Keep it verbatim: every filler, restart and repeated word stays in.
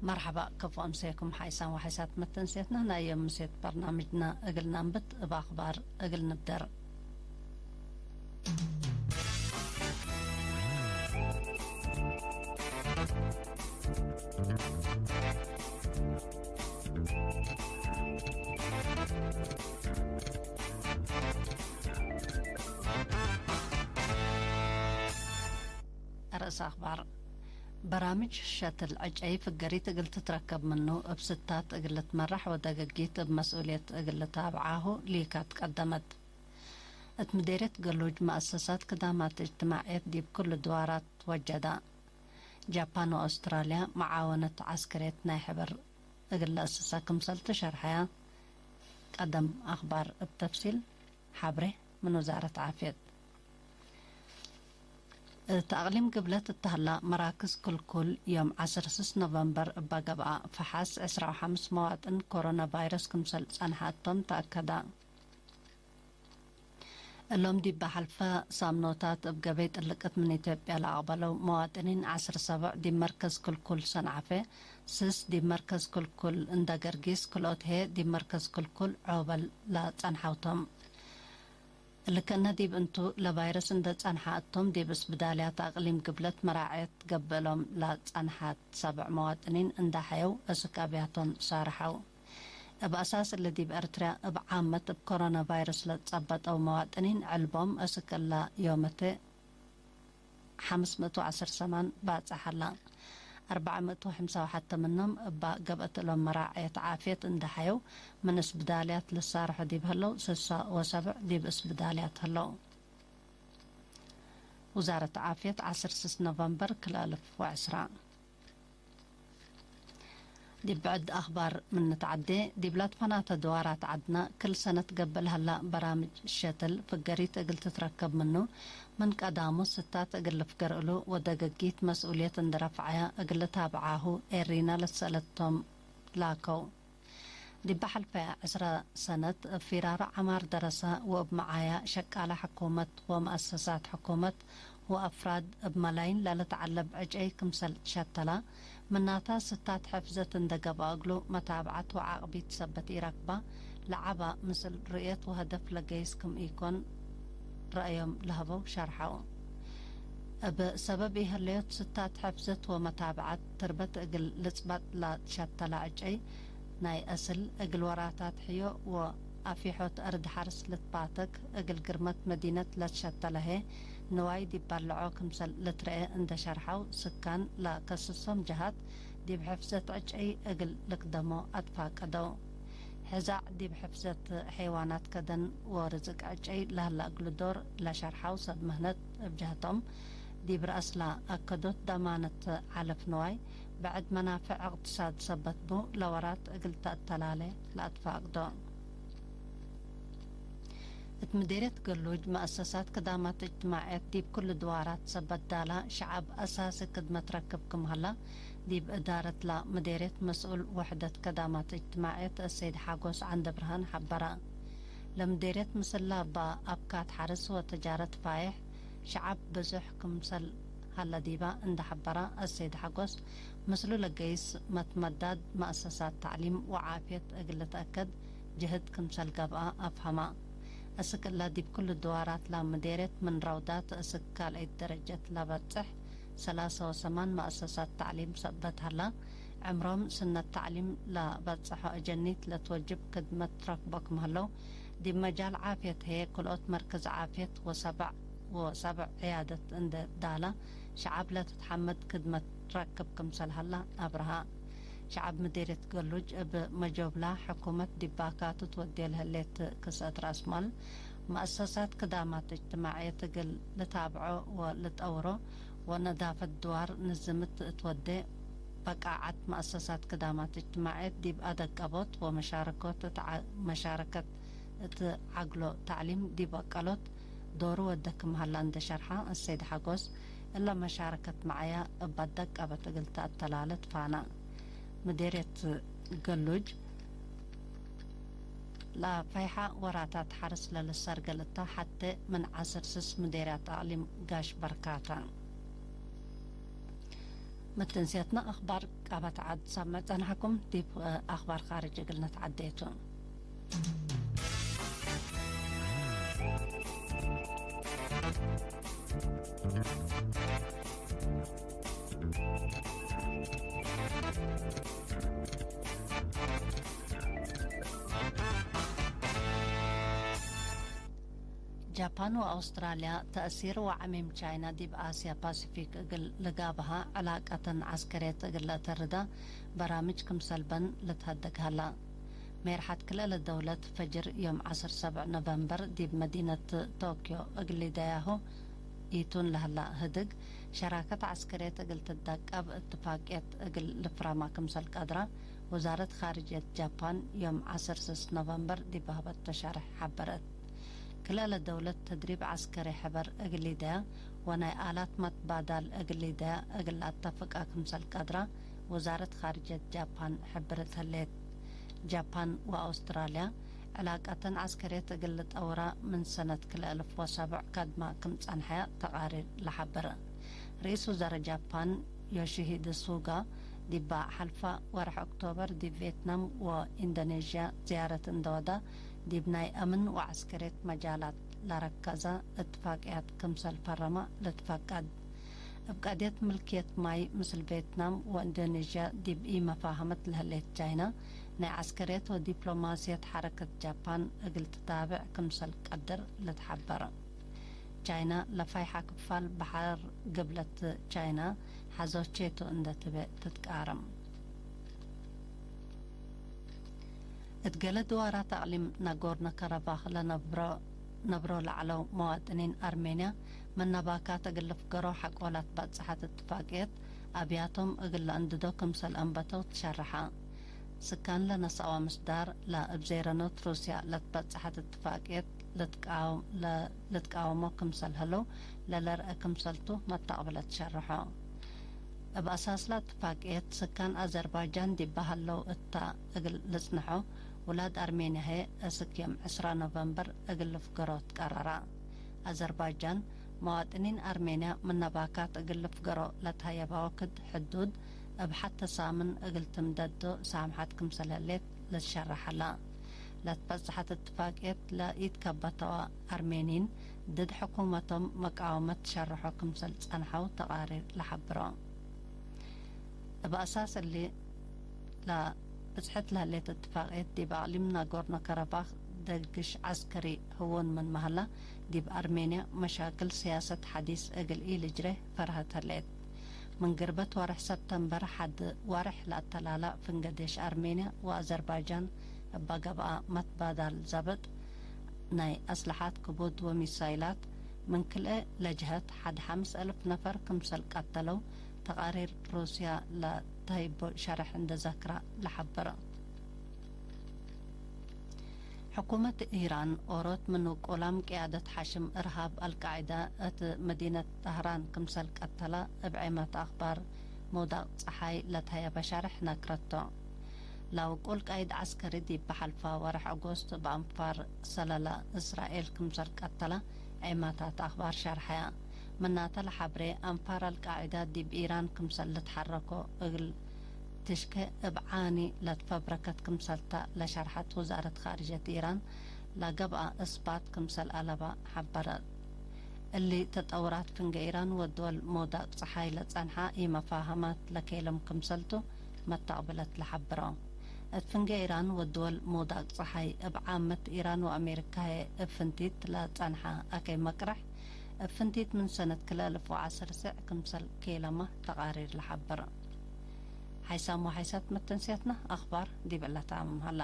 መርሐባ፣ ከፎ አምሰየኩም ሓይሳን ወሓይሳት መተንሴትና። ናይ ዮም ምሴት በርናምጅና እግል ነንብት፣ እብ አኽባር እግል ንብደር። ርእሰ አኽባር። በራምጅ ሸትል ዕጨይ ፍገሪት እግል ትትረከብ ምኑ፣ እብ ስታት እግል ልትመራሕ ወደገጊት እብ መስኡልየት እግል ልታብዓሁ ሊካት ቀደመት። እት ምዴርየት ገሉጅ መአሰሳት ክዳማት እጅትማዕየት ዲብ ክሉ ድዋራት ወጀዳ። ጃፓን ወአውስትራልያ መዓወነት ዐስከርየት ናይ ሕበር እግል ለአስሳ ክምሰል ትሸርሐያ። ቀደም አኽባር እብ ተፍሲል ሐብሬ ምን ውዛረት ዓፍየት። እት አቅሊም ግብለት እተ ሀላ መራክዝ ክልኩል ዮም ዐስር ስስ ኖቨምበር እበ ገብአ ፈሓስ ዕስራ ወሐምስ መዋጥን ኮሮና ቫይረስ ክምሰል ጸንሐ እቶም ተአከዳ። እሎም ዲብ ሐልፈ ሳምኖታት እብ ገበይ ጥልቅት ምን ኢትዮጵያ ለአቅበለው መዋጥኒን ዐስር ሰቦዕ ዲብ መርከዝ ክልኩል ሰንዓፈ፣ ስስ ዲብ መርከዝ ክልኩል እንደ ገርጊስ፣ ክልኦት ህዬ ዲብ መርከዝ ክልኩል ዖበል ለጸንሐው ቶም። እሊ ከእነ ዲብ እንቱ ለቫይረስ እንደ ጸንሐ እቶም ዲብ እስብዳልያት አቅሊም ግብለት መራዐየት ገብእሎም ለጸንሐት ሰብዕ መዋጥኒን እንዳ ሐየው እስክ አብያቶም ሳርሐው። እብ አሳስ እሊ ዲብ ኤርትርያ እብ ዓመት እብ ኮሮና ቫይረስ ለትጸበጠው መዋጥኒን ዕልቦም እስክ እላ ዮመተ ሐምስ ምእት ወዐስር ሰማን ባጽሕ ሀላ። አርበዕ ምእት ወሐምሳ ወሐተ ምኖም እባ ገብአት እሎም መራዐየት ዓፍየት እንደ ሐየው ምን እስብዳልያት ልሳርሑ ዲብ ህለው ስሳ ወሰብዕ ዲብ እስብዳልያት ህለው። ውዛረት ዓፍየት ዐስር ስስ ኖቨምበር ክልኤ አልፍ ወዐስራ። ዲብ ብዕድ አኽባር ምን ንትዐዴ፣ ዲብ ለትፈናተ ድዋራት ዐድነ፣ ክል ሰነት ገብእ ለሀላ በራምጅ ሸትል ፍገሪት እግል ትትረከብ ምኑ፣ ምን ቀዳሙ ስታት እግል ልፍገር እሉ ወደገጊት መስኡልየት እንዴ ረፍዐያ እግል ልታብዓሁ ኤሪና ለትሰአለት ቶም ላከው። ዲበ ሐልፈ ዕስረ ሰነት፣ እብ ፊራሮ ዐማር ደረሰ ወእብ መዓያ ሸቃለ ሕኩመት ወመአሰሳት ሕኩመት ወአፍራድ እብ መላይን ለልትዐለብ ዕጨይ ክምሰል ትሸተላ፣ ምናተ ስታት ሕፍዘት እንዴ ገብአ እግሉ መታብዐት ወዓቅቢት ሰበት ኢረክባ፣ ለዐበ ምስል ርእየት ወሀደፍ ለገይስ ክም ኢኮን ረአዮም ለሀበው ሸርሐው። እብ ሰበብ ኢሀለዮት ስታት ሕፍዘት ወመታብዐት ትርበት እግል ልጽበጥ ለትሸተለ ዕጨይ፣ ናይ አስል እግል ወራታት ሕዮ ወአፊሖት አርድ ሐርስ ልትባተክ፣ እግል ግርመት መዲነት ለትሸተለ ህዬ ንዋይ ዲብ ባልዖ ክምሰል ልትረኤ እንዴ ሸርሐው፣ ስካን ለከስሶም ጀሃት ዲብ ሕፍዘት ዕጨይ እግል ልክደሞ አትፋቀደው። ሕዛዕ ዲብ ሕፍዘት ሐይዋናት ከደን ወርዝቅ ዕጨይ ለሀለ እግሉ ዶር ለሸርሐው ሰብ ምህነት እብ ጀህቶም፣ ዲብ ረአስ ለአከዶት ደማነት ዐለፍ ንዋይ፣ ብዕድ መናፍዕ እቅትሳድ ሰበት ቡ፣ ለወራት እግል ተአተላሌ ለአትፋቅዶ። እት ምዴርየት ገሉጅ መአሰሳት ክዳማት እጅትማዕየት ዲብ ክሉ ድዋራት ሰበት ዳላ ሸዐብ አሳሲ ክድመት ረክብ ክም ሀላ፣ ዲብ እዳረት ለምዴርየት መስኡል ወሕደት ከዳማት እጅትማዕየት አሰይድ ሓጎስ ዐንደብርሃን ሐበረ። ለምዴርየት ምስላ እባ አብካት ሐርስ ወተጃረት ፋይሕ ሸዐብ ብዙሕ ክምሰል ሀለ ዲባ እንደ ሐበረ አሰይድ ሓጎስ፣ ምስሉ ለገይስ መትመዳድ መአሰሳት ተዕሊም ወዓፍየት እግል ልትአከድ ጅህድ ክምሰል ገብአ አፍሀመ። እስክ እለ ዲብ ክሉ ድዋራት ለምዴርየት ምን ረውዳት እስክ ካልአይት ደረጀት ለበጽሕ ሰላሰ ወሰማን መአሰሳት ተዕሊም ሰበት ሀላ፣ ዕምሮም ስነት ተዕሊም ለበጽሖ አጀኒት ለትወጅብ ክድመት ረክቦ ክም ሀለው፣ ዲብ መጃል ዓፍየት ህዬ ክልኦት መርክዝ ዓፍየት ወሰበዕ ወሰብዕ ዕያደት እንዴ ዳላ፣ ሸዐብ ለትትሐመድ ክድመት ረክብ ክምሰል ሀላ አብርሃ። ሸዐብ ምዴርየት ገሉጅ እብ መጆብላ ሕኩመት ዲብ ባካቱ ትወዴ ለህሌት ክስአት ረአስማል፣ መአሰሳት ክዳማት እጅትማዕየት እግል ልታብዖ ወልጠውሮ፣ ወነዳፈት ድዋር ንዝምት እት ወዴ፣ በቃዐት መአሰሳት ክዳማት እጅትማዕየት ዲብ አደቀቦት ወመሻረኮት እት ዐ-፣ መሻረከት እት ዐግሎ ተዕሊም ዲብ አቀሎት ዶሩ ወደ ክም ሀላ እንደ ሸርሐ አሰይድ ሓጎስ፣ እለ መሻረከት መዓያ እብ አደቀበት እግል ተአተላለ ትፋና። ምዴርየት ገሉጅ ለፈይሐ ወራታት ሐርስ ለልሰርገል እታ ሐቴ ምን ዐስር ስስ ምዴርያት አቅሊም ጋሽ በርካታ። መተንስያትና አኽባር ቃባት ዓድ ሳምዕ ጸናሕኩም። ዲብ አኽባር ካርጅ እግል ነትዓዴ ቱ። ጃፓን ወአውስትራልያ፣ ተእሲር ወዐሚም ቻይና ዲብ አስያ ፓሲፊክ እግል ልጋብሃ ዕላቀተን ዐስከርየት እግል ለአተርዳ በራምጅ ክምሰል በን ልትሀደግ ሀላ። ሜርሐት ክልኤ ለደውለት ፈጅር ዮም ዐስር ሰብዕ ኖቨምበር ዲብ መዲነት ቶክዮ እግል ሊደያሁ ኢቱን ለህላ ህድግ፣ ሸራከት ዐስከርየት እግል ትዳቀብ እትፋቅየት እግል ልፍረማ ክምሰል ቀድራ፣ ወዛረት ካርጅየት ጃፓን ዮም ዐስር ስስ ኖቨምበር ዲብ ሀበቶ ሸርሕ ሐበረት። ክልኤ ለደውለት ተድሪብ ዐስከሪ ሕበር እግል ሊደያ ወናይ አላት መትባዳል እግል ሊደያ እግል ለአተፍቃ ክምሰል ቀድራ፣ ወዛረት ካርጅየት ጃፓን ሕብርት ህሌት። ጃፓን ወአውስትራልያ፣ ዕላቀተን ዐስከርየት እግል ልጠውራ ምን ሰነት ክልኤ አልፍ ወሰብዕ ከድማ ክም ጸንሐያ ተቃሪር ለሐብር። ርኢስ ውዘረ ጃፓን ዮሺሂደ ሱጋ፣ ዲባ ሐልፋ ወርሕ ኦክቶበር ዲብ ቬትናም ወኢንዶኔዥያ ዝያረት እንደ ወዳ፣ ዲብ ናይ አምን ወዐስከርየት መጃላት ለረከዘ እትፋቅያት ክምሰል ፈረመ ልትፈቀድ። እብ ቀድየት ምልክየት ማይ ምስል ቬትናም ወእንዶኔዥያ ዲብ ኢመፋሀመት ለህሌት ቻይና፣ ናይ ዐስከርየት ወዲፕሎማስየት ሐረከት ጃፓን እግል ትታብዕ ክምሰል ቀድር ልትሐበር። ቻይና ለፋይሐ ክፋል በሐር ግብለት ቻይና ሐዞቼ ቱ እንደ ትቤ ትትቃረም። እት ገሌ ድዋራት አቅሊም ናጎርኖ-ከረባክ ለነብሮ፣ ነብሮ ለዐለው መዋጥኒን አርሜንያ፣ ምን ነባካት እግል ልፍገሮ ሐቆ ላትባጽሐት እትፋቅየት፣ አብያቶም እግል ለአንድዶ ክምሰል አንበተው ትሸረሐ። ስካን ለነስአወ ምስዳር፣ ለእብ ዜረኖት ሩስያ ለትበጽሐት እትፋቅየት ልትቃወም፣ ለ-፣ ልትቃወሞ ክምሰል ህለው ለለርአ ክምሰልቱ መተቅብለት ሸርሖ። እብ አሳስላ እትፋቅየት፣ ስካን አዘርባጃን ዲባ ሀለው እታ እግል ልጽንሖ፣ ውላድ አርሜንያ ህዬ እስክ ዮም ዕስራ ኖቨምበር እግል ልፍገሮ ትቀረራ። አዘርባጃን፣ መዋጥኒን አርሜንያ ምን ነባካት እግል ልፍገሮ ለትሀየባ ወክድ ሕዱድ እብ ሐተ ሳምን እግል ትምደዶ ሳምሐት ክምሰል ህሌት ልትሸረሕ ዐላ። ለትበጽሐት እትፋቅየት ለኢትከበተወ አርሜኒን፣ ድድ ሕኩመቶም መቃወመት ሸርሖ ክምሰል ጸንሐው ተቃሪር ለሐብሮ። እብ አሳስ እሊ፣ ለብጽሐት ለህሌት እትፋቅየት ዲብ አቅሊም ናጎርኖ-ከረባክ ደግሽ ዐስከሪ ህውን ምንመ ሀላ፣ ዲብ አርሜንያ መሻክል ስያሰት ሐዲስ እግል ኢልጅሬ ፈርሀት ህሌት። ምን ግርበት ወርሕ ሰብተምበር ሐድ ወርሕ ለአተላላ ፍንገ ዴሽ አርሜንያ ወአዘርባጃን እበ ገብአ መትባዳል ዘብጥ ናይ አስለሓት ክቡድ ወሚሳይላት ምን ክልኤ ለጀሀት ሐድ ሐምስ አልፍ ነፈር ክምሰል ቀተለው ተቃሪር ሩስያ ለተህይቦ ሸርሕ እንደ ዘክራ ለሐብረ። ሕኩመት ኢራን ኦሮት ምን ውቁላም ቅያደት ሐሽም እርሃብ አልቃዒዳ እት መዲነት ጠህራን ክምሰል ቀተላ እብ ዔማት አክባር መውዳቅ ጸሓይ ለተሀየበ ሸርሕ ነክረቶ። ለውቁል ቃይድ ዐስከሪ ዲብ በሐልፋ ወርሕ ኦጎስት እብ አንፋር ሰለላ እስራኤል ክምሰል ቀተላ ዔማታት አክባር ሸርሐያ። ምናተ ለሐብሬ አንፋር አልቃዒዳ ዲብ ኢራን ክምሰል ልትሐረኮ እግል ትሽኬ እብ ዓኒ ለትፈብረከት ክምሰልታ ለሸርሐት ውዛረት ካርጀት ኢራን ለገብአ እስባት ክምሰል አለባ ሐበረት። እሊ ተጠውራት ፍንጌ ኢራን ወድወል መውዳቅ ጸሓይ ለጸንሐ ኢመፋሀማት ለኬለም ክምሰልቱ መተቅብለት ለሐብረው። እት ፍንጌ ኢራን ወድወል መውዳቅ ጸሓይ እብ ዓመት ኢራን ወአሜሪካየ እብ ፍንቲት ለጸንሐ አከይ መቅረሕ እብ ፍንቲት ምን ሰነት ክልኤ አልፍ ወዐስር ስዕ ክምሰል ኬለመ ተቃሪር ለሐብር። ሓይሳም ወሓይሳት መተንስያትና አኽባር ዲብ ዕለት አምም ሀላ።